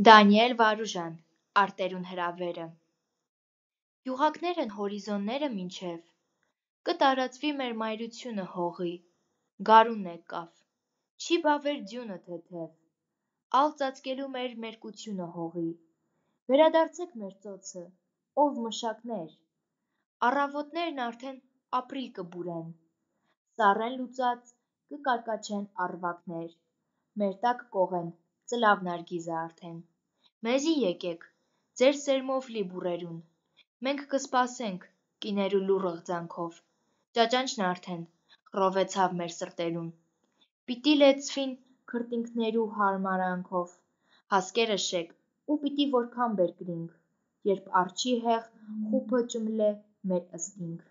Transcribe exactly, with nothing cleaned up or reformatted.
Դանիել Վարուժան, արտերուն հրավերը։ Յուղակներն հորիզոնները մինչև, կտարածվի մեր մայրությունը հողի, գարուն եկավ, չի բավեր դյունը թեթև, ալ ծածկելու մեր մերկությունը հողի, վերադարձեք մեր ծոցը, ով մշակներ, առավոտներն արդեն ապրիլ կբուրեն, սառեն լուծած կկարկաչեն առվակներ, մեր տակ կողեն ծլավ նարգիզը արդեն, մեզի եկեք, ձեր սերմով լի բուրերուն, մենք կսպասենք կիներու լուռ ըղձանքով, ճաճանչն արդեն խռովեցավ մեր սրտերուն, պիտի լեցվին քրտինքներու հարմարանքով, հասկերը շեք ու պիտի որքան բերկրինք, երբ արջի հեղ խուփը ճմլե մեր ըստինք։